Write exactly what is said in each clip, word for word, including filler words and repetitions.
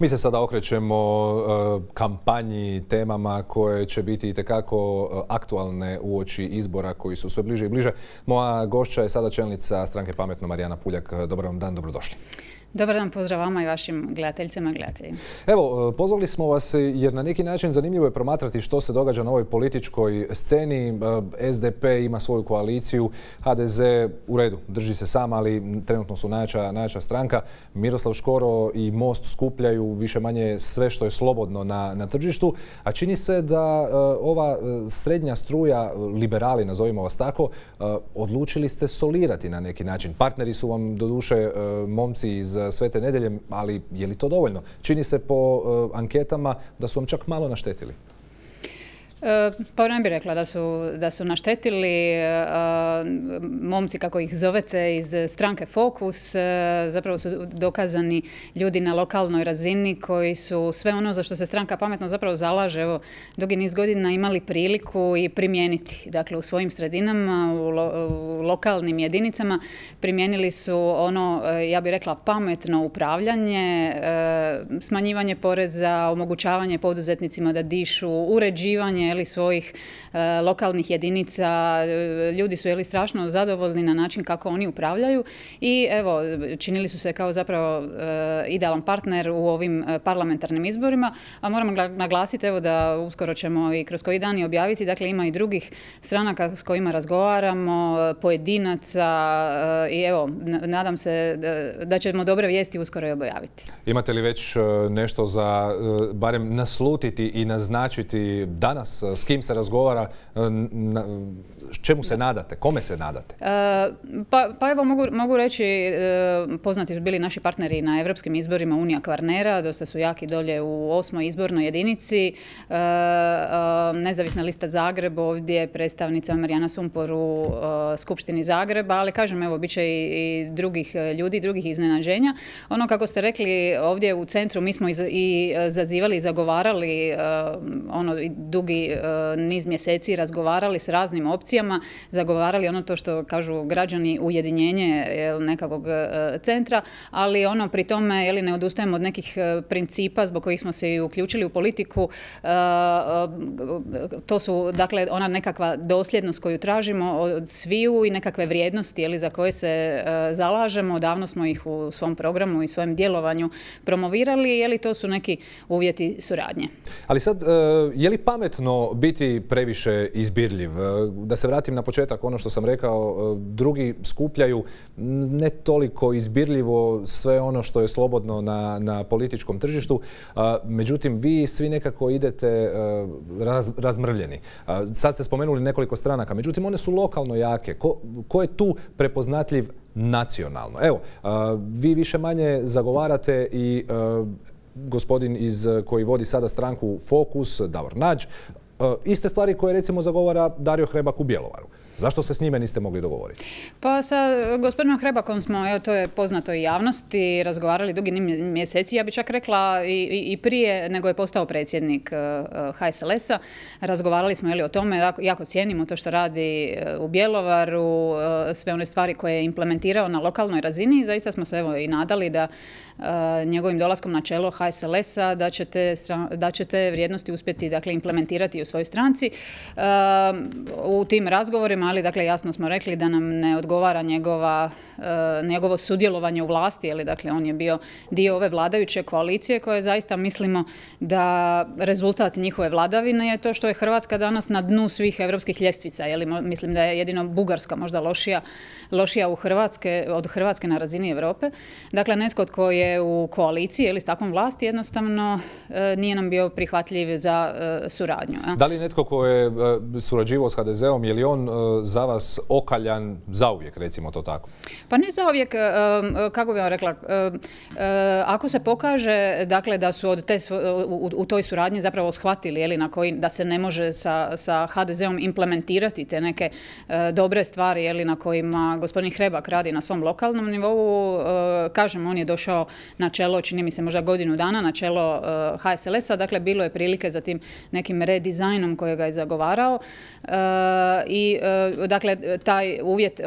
Mi se sada okrećemo uh, kampanji, temama koje će biti itekako uh, aktualne uoči izbora koji su sve bliže i bliže. Moja gošća je sada čelnica stranke Pametno, Marijana Puljak. Dobar vam dan, dobrodošli. Dobar dan, pozdrav vama i vašim gledateljicama i gledateljima. Evo, pozvali smo vas jer na neki način zanimljivo je promatrati što se događa na ovoj političkoj sceni. S D P ima svoju koaliciju, H D Z u redu, drži se sam, ali trenutno su najjača, najjača stranka. Miroslav Škoro i Most skupljaju više manje sve što je slobodno na, na tržištu, a čini se da uh, ova srednja struja, liberali, nazovimo vas tako, uh, odlučili ste solirati na neki način. Partneri su vam doduše uh, momci iz Svete Nedelje, ali je li to dovoljno? Čini se po uh, anketama da su vam čak malo naštetili. Pa ne bih rekla da su, da su naštetili. Momci, kako ih zovete, iz stranke Fokus, zapravo su dokazani ljudi na lokalnoj razini koji su sve ono za što se stranka Pametno zapravo zalaže, evo, dugi niz godina imali priliku i primijeniti. Dakle, u svojim sredinama, u, lo, u lokalnim jedinicama primijenili su ono, ja bih rekla, pametno upravljanje, smanjivanje poreza, omogućavanje poduzetnicima da dišu, uređivanje ili svojih e, lokalnih jedinica. Ljudi su jeli strašno zadovoljni na način kako oni upravljaju i evo, činili su se kao zapravo e, idealan partner u ovim parlamentarnim izborima, a moramo naglasiti evo da uskoro ćemo i kroz koji dan i objaviti, dakle ima i drugih stranaka s kojima razgovaramo, pojedinaca e, i evo, nadam se da, da ćemo dobre vijesti uskoro i objaviti. Imate li već nešto za barem naslutiti i naznačiti danas? S kim se razgovara, čemu se nadate, kome se nadate? E, pa, pa evo mogu, mogu reći, e, poznati su bili naši partneri na evropskim izborima Unija Kvarnera, dosta su jaki dolje u osmoj izbornoj jedinici. E, e, nezavisna lista Zagreb, ovdje predstavnica Marijana Sumpor u e, Skupštini Zagreba, ali kažem, evo, bit će i, i drugih ljudi, drugih iznenađenja. Ono kako ste rekli, ovdje u centru mi smo i, i zazivali i zagovarali e, ono dugi niz mjeseci, razgovarali s raznim opcijama, zagovarali ono to što kažu građani, ujedinjenje nekakvog centra, ali ono pri tome jeli, ne odustajemo od nekih principa zbog kojih smo se i uključili u politiku. To su dakle ona nekakva dosljednost koju tražimo od sviju i nekakve vrijednosti jeli, za koje se zalažemo. Davno smo ih u svom programu i svojem djelovanju promovirali, jeli, to su neki uvjeti suradnje. Ali sad, je li pametno biti previše izbirljiv? Da se vratim na početak, ono što sam rekao, drugi skupljaju ne toliko izbirljivo sve ono što je slobodno na, na političkom tržištu. Međutim, vi svi nekako idete raz, razmrvljeni. Sad ste spomenuli nekoliko stranaka, međutim, one su lokalno jake. Ko, ko je tu prepoznatljiv nacionalno? Evo, vi više manje zagovarate i gospodin iz koji vodi sada stranku Fokus, Davor Nađ, iste stvari koje recimo zagovara Dario Hrebak u Bjelovaru. Zašto se s njime niste mogli dogovoriti? Pa sa gospodinom Hrebakom smo, evo to je poznato i javnosti, razgovarali dugi mjeseci. Ja bih čak rekla i, i prije nego je postao predsjednik H S L S-a. Razgovarali smo jeli, o tome, jako cijenimo to što radi u Bjelovaru, sve one stvari koje je implementirao na lokalnoj razini. Zaista smo se evo i nadali da njegovim dolaskom na čelo H S L S-a da će te, da će te vrijednosti uspjeti dakle, implementirati u svojoj stranci. U tim razgovorima, ali dakle jasno smo rekli da nam ne odgovara njegova, njegovo sudjelovanje u vlasti, jer dakle on je bio dio ove vladajuće koalicije koje zaista mislimo da rezultat njihove vladavine je to što je Hrvatska danas na dnu svih europskih ljestvica. Jeli, mislim da je jedino Bugarska možda lošija, lošija u Hrvatske, od Hrvatske na razini Europe. Dakle, netko tko je u koaliciji ili s takvom vlasti jednostavno nije nam bio prihvatljiv za suradnju. Ja. Da li netko ko je surađivao s H D Z-om, je li on za vas okaljan zauvijek, recimo to tako? Pa ne zauvijek, kako bih vam rekla, ako se pokaže dakle, da su od te, u, u toj suradnji zapravo shvatili jeli, na koji, da se ne može sa, sa H D Z-om implementirati te neke dobre stvari jeli, na kojima gospodin Hrebak radi na svom lokalnom nivou, kažem, on je došao na čelo, čini mi se možda godinu dana, na čelo H S L S-a, dakle bilo je prilike za tim nekim redizajnom dizajnom kojega je zagovarao. I dakle, taj uvjet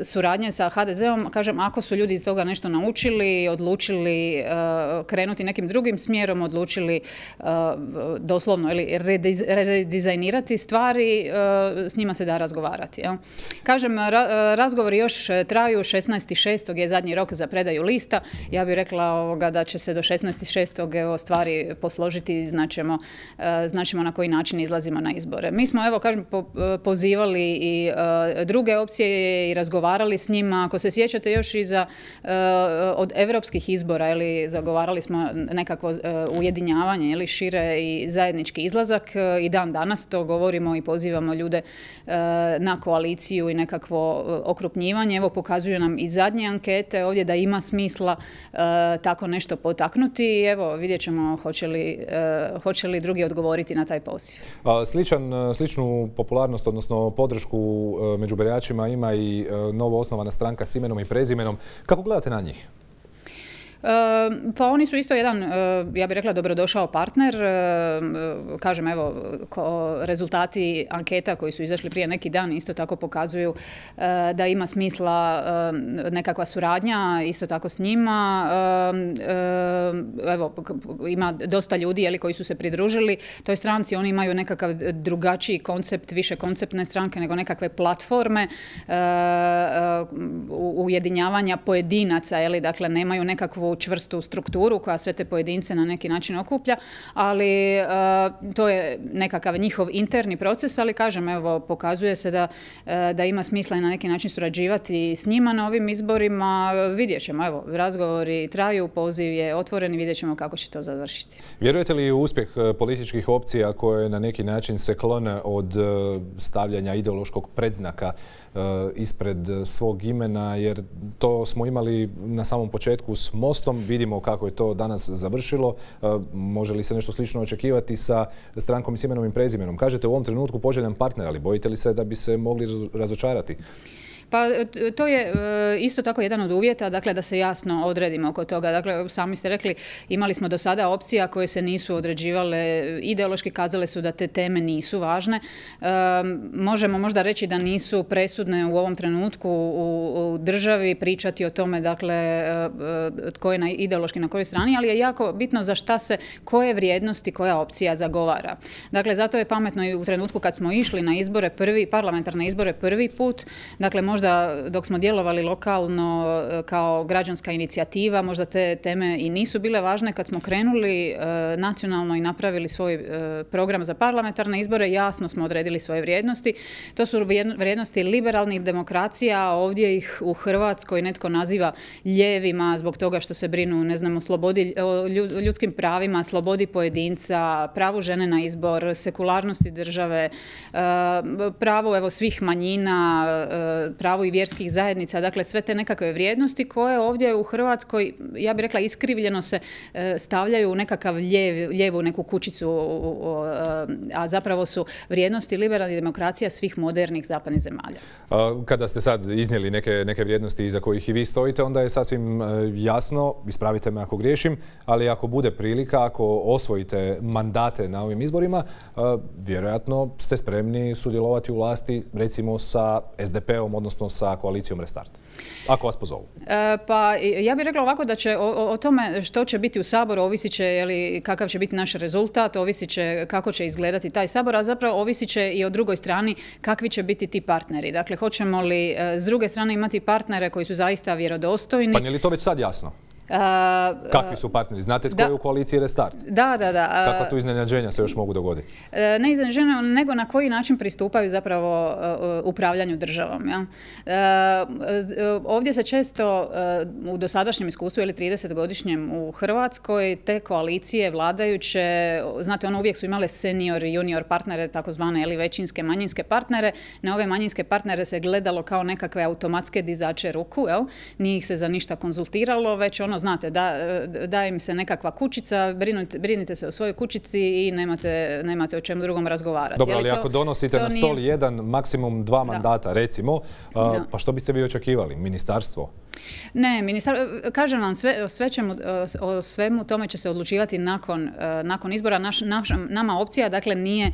suradnje sa ha de zeom, kažem, ako su ljudi iz toga nešto naučili, odlučili krenuti nekim drugim smjerom, odlučili doslovno ili redizajnirati stvari, s njima se da razgovarati. Jel? Kažem, ra razgovori još traju, šesnaesti šestog je zadnji rok za predaju lista. Ja bih rekla ovoga, da će se do šesnaesti šestog evo, stvari posložiti i znaćemo, znaćemo na koji način izlazimo na izbore. Mi smo, evo, kažem, po, pozivali i uh, druge opcije i razgovarali s njima. Ako se sjećate još i za, uh, od evropskih izbora, ili zagovarali smo nekakvo uh, ujedinjavanje, ili šire i zajednički izlazak. Uh, I dan danas to govorimo i pozivamo ljude uh, na koaliciju i nekakvo uh, okrupnjivanje. Evo, pokazuju nam i zadnje ankete ovdje da ima smisla uh, tako nešto potaknuti. I evo, vidjet ćemo hoće li, uh, hoće li drugi odgovoriti na taj poziv. A, sličan, sličnu popularnost, odnosno podršku uh, među biračima ima i uh, novo osnovana stranka s imenom i prezimenom. Kako gledate na njih? Pa oni su isto jedan, ja bih rekla, dobrodošao partner. Kažem, evo, rezultati anketa koji su izašli prije neki dan isto tako pokazuju da ima smisla nekakva suradnja, isto tako s njima. Evo, ima dosta ljudi, jeli, koji su se pridružili toj stranci. Oni imaju nekakav drugačiji koncept, više konceptne stranke nego nekakve platforme ujedinjavanja pojedinaca, jeli, dakle, nemaju nekakvu čvrstu strukturu koja sve te pojedince na neki način okuplja, ali uh, to je nekakav njihov interni proces, ali kažem, evo, pokazuje se da, uh, da ima smisla i na neki način surađivati s njima na ovim izborima. Vidjet ćemo, evo, razgovori traju, poziv je otvoren i vidjet ćemo kako će to završiti. Vjerujete li u uspjeh političkih opcija koje na neki način se klone od stavljanja ideološkog predznaka ispred svog imena, jer to smo imali na samom početku s Mostom, vidimo kako je to danas završilo. Može li se nešto slično očekivati sa strankom i s imenom i prezimenom? Kažete u ovom trenutku poželjan partner, ali bojite li se da bi se mogli razočarati? Pa to je isto tako jedan od uvjeta, dakle, da se jasno odredimo oko toga. Dakle, sami ste rekli, imali smo do sada opcija koje se nisu određivale, ideološki kazale su da te teme nisu važne. E, možemo možda reći da nisu presudne u ovom trenutku u, u državi, pričati o tome, dakle, tko je na, ideološki na kojoj strani, ali je jako bitno za šta se, koje vrijednosti koja opcija zagovara. Dakle, zato je pametno i u trenutku kad smo išli na izbore prvi, parlamentarne izbore prvi put, dakle, možda dok smo djelovali lokalno kao građanska inicijativa, možda te teme i nisu bile važne. Kad smo krenuli e, nacionalno i napravili svoj e, program za parlamentarne izbore, jasno smo odredili svoje vrijednosti. To su vrijednosti liberalnih demokracija, ovdje ih u Hrvatskoj netko naziva ljevima zbog toga što se brinu, ne znam, o slobodi, o ljudskim pravima, slobodi pojedinca, pravu žene na izbor, sekularnosti države, e, pravo, evo, svih manjina, e, pravo i vjerskih zajednica, dakle sve te nekakve vrijednosti koje ovdje u Hrvatskoj, ja bih rekla, iskrivljeno se stavljaju u nekakav ljev, lijevu neku kućicu, a zapravo su vrijednosti liberalnih demokracija svih modernih zapadnih zemalja. Kada ste sad iznijeli neke, neke vrijednosti iza kojih i vi stojite, onda je sasvim jasno, ispravite me ako griješim, ali ako bude prilika, ako osvojite mandate na ovim izborima, vjerojatno ste spremni sudjelovati u vlasti, recimo sa es de pe-om, odnosno sa koalicijom Restart, ako vas pozovu. E, pa ja bih rekla ovako da će o, o tome što će biti u Saboru ovisit će, jeli, kakav će biti naš rezultat, ovisit će kako će izgledati taj Sabor, a zapravo ovisit će i o drugoj strani kakvi će biti ti partneri. Dakle, hoćemo li e, s druge strane imati partnere koji su zaista vjerodostojni. Pa je li to već sad jasno? Uh, Kakvi su partneri? Znate tko da, je u koaliciji Restart? Da, da, da. Uh, Kakva tu iznenađenja se još mogu dogoditi? Uh, ne iznenađenja, nego na koji način pristupaju zapravo uh, upravljanju državom. Ja? Uh, ovdje se često uh, u dosadašnjem iskustvu ili tridesetgodišnjem u Hrvatskoj te koalicije vladajuće, znate, ono uvijek su imale senior i junior partnere, takozvane ili većinske, manjinske partnere. Na ove manjinske partnere se gledalo kao nekakve automatske dizače ruku, jel? Nije ih se za ništa konzultiralo, već ono, znate, da, da im se nekakva kućica, brinite, brinite se o svojoj kućici i nemate, nemate o čemu drugom razgovarati. Dobro, ali to, ako donosite na stol nije... jedan, maksimum dva mandata, da. recimo, uh, pa što biste vi očekivali? Ministarstvo? Ne, ministar, kažem vam, sve, sve ćemo, o svemu tome će se odlučivati nakon, nakon izbora. Naš, naš, nama opcija, dakle, nije,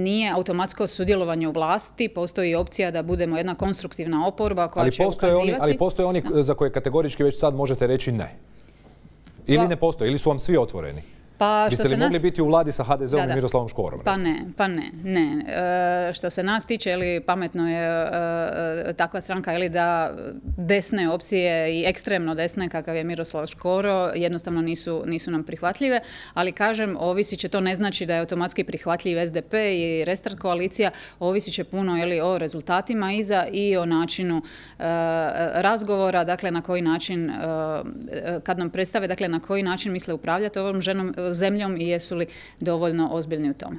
nije automatsko sudjelovanje u vlasti, postoji opcija da budemo jedna konstruktivna oporba koja ali će postoje ukazivati. Oni, ali postoje oni no. za koje kategorički već sad možete reći ne. Ili pa, ne postoje, ili su vam svi otvoreni. Pa, Biste li mogli nas... biti u vladi sa ha de zom i Miroslavom Škorom? Pa ne, pa ne, ne. E, što se nas tiče, ili pametno je e, takva stranka ili da desne opcije i ekstremno desne kakav je Miroslav Škoro jednostavno nisu, nisu nam prihvatljive, ali kažem, ovisit će, to ne znači da je automatski prihvatljiv es de pe i Restart koalicija, ovisit će puno ili o rezultatima iza i o načinu e, razgovora, dakle na koji način, e, kad nam predstave, dakle na koji način misle upravljati ovom ženom zemljom i jesu li dovoljno ozbiljni u tome.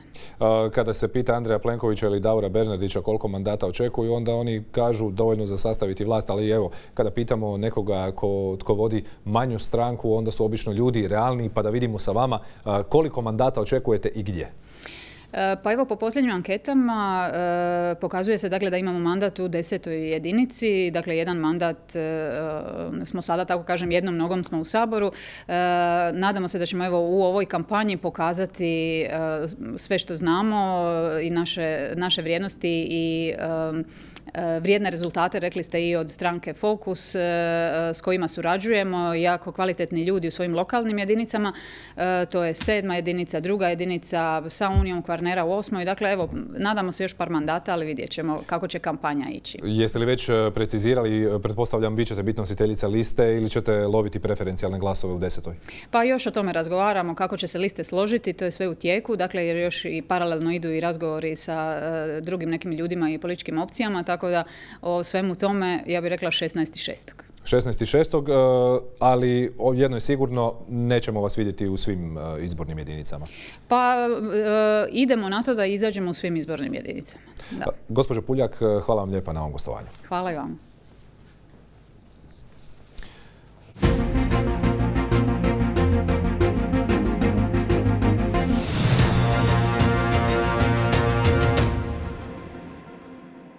Kada se pita Andreja Plenkovića ili Davora Bernardića koliko mandata očekuju, onda oni kažu dovoljno za sastaviti vlast, ali evo, kada pitamo nekoga ko, tko vodi manju stranku, onda su obično ljudi realni, pa da vidimo sa vama koliko mandata očekujete i gdje. Pa evo, po posljednjim anketama e, pokazuje se dakle da imamo mandat u desetoj jedinici, dakle jedan mandat e, smo sada, tako kažem, jednom nogom smo u Saboru. E, nadamo se da ćemo evo u ovoj kampanji pokazati e, sve što znamo i naše, naše vrijednosti i e, vrijedne rezultate, rekli ste, i od stranke Fokus s kojima surađujemo, jako kvalitetni ljudi u svojim lokalnim jedinicama, to je sedma jedinica, druga jedinica sa Unijom Kvarnera u osmoj, dakle evo, nadamo se još par mandata, ali vidjet ćemo kako će kampanja ići. Jeste li već precizirali, pretpostavljam vi ćete biti nositeljica liste ili ćete loviti preferencijalne glasove u desetoj? Pa još o tome razgovaramo kako će se liste složiti, to je sve u tijeku, dakle jer još i paralelno idu i razgovori sa drugim nekim ljudima i političkim opcijama, tako da o svemu tome, ja bih rekla šesnaesti šestog šesnaesti šestog ali jedno je sigurno, nećemo vas vidjeti u svim izbornim jedinicama. Pa idemo na to da izađemo u svim izbornim jedinicama. Da. Gospođo Puljak, hvala vam lijepa na ovom gostovanju. Hvala i vam.